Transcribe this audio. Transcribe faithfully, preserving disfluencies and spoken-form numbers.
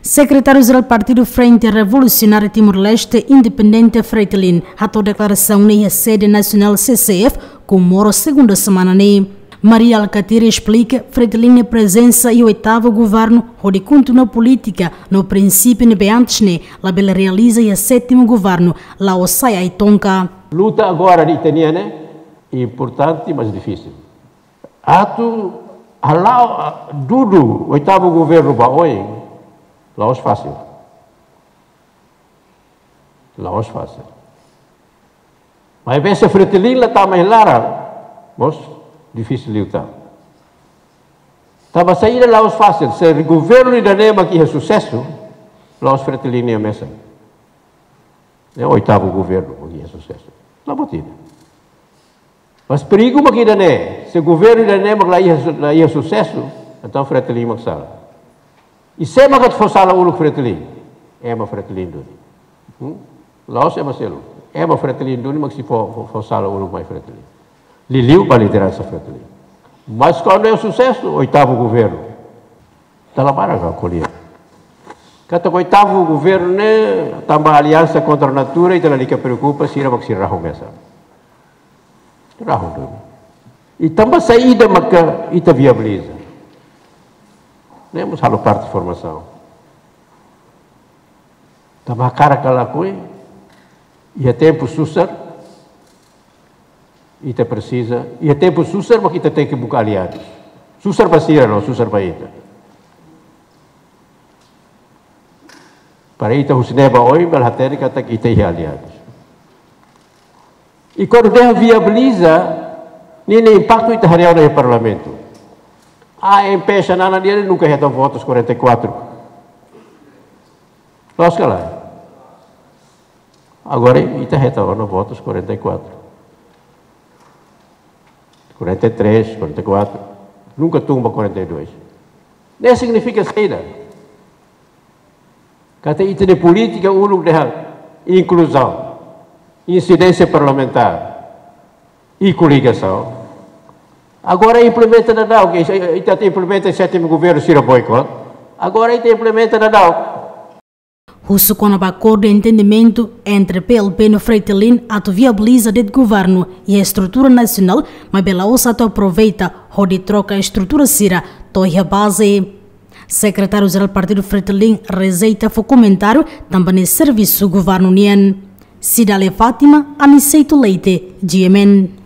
Sekretáriu-Jerál Partidu Frente Revolusionária Timor-Leste Independente, Fretilin, hato'o deklarasaun ne'e iha sede nasionál C C F, Comoro, segunda semana ne'e. Mari Alkatiri esplika Fretilin nia prezensa iha oitavu governu hodi kontinua polítika no prinsípiu ne'ebé antes ne'e labele realiza iha sétimu governu, la'ós sai ai-tonka. Luta agora de ita-nian ne'e importante, mas difísil. Atu hala'o, ah, dudu oitavu governu ba oin, la'ós fasil. La'ós fasil. Maibé se Fretilin la tama iha laran, mós difisil liután. Tanba saida la'ós fasil? Se governu ida-ne'e mak iha susesu, la'ós Fretilin nian mesak. Ne'e oitavu governu mak iha susesu. La buat ida. Mas perigu mak ida-ne'e, se governu ida-ne'e mak la iha su-, la iha susesu, entaun Fretilin mak sala. I sé mak atu fó sala uluk Fretilin? Ema Fretilin duni. Hmm? La'ós ema seluk. Ema Fretilin duni mak sei fó, fó, fó sala uluk mai Fretilin. Liuliu ba lideransa Fretilin. Mas kuandu iha susesu, oitavu governu. Dala barak ha'u ko'alia katak oitavu governu ne'e, tanba aliansa kontra natura, ita lalika preokupa, sira mak sei rahun mesak. Rahun duni. I tanba saida maka ita viabiliza? Ne'e mós halo parte formasaun. Tanba hakarak ka lakohi, iha tempu susar, ita presiza, iha tempu susar mak ita tenke buka aliadus. Susar ba sira no, susar ba ita. Para ita husi ne'e ba oin, bele hatene katak ita iha aliadus. I kuandu dehan viabiliza, ninia impaktu ita haree ona iha parlamentu. AMP Xanana nian nunka hetan votus quarenta e quatro. Loos ka lae? Agora ita hetan ona votus quarenta e quatro. Quarenta e três, quarenta e quatro. Nunka tun ba quarenta e dois. Ne'e signifika saida? Katak ita-nia polítika uluk dehan inkluzaun, insidénsia parlamentár i koligasaun. Agora implementa daudaun, ke ita implementa sétimu governu, sira boikot. Agora ita implementa daudaun. Husu kona-ba akordu entendimentu entre P L P no Fretilin atu viabiliza de'it governu iha estrutura nasionál, maibé la'ós atu aproveita hodi troka estrutura sira to'o iha baze. Sekretáriu-Jerál Partidu Fretilin rejeita fó komentáriu tanba ne'e servisu governu nian. Cidália Fátima, Aniceto Leite, G M N.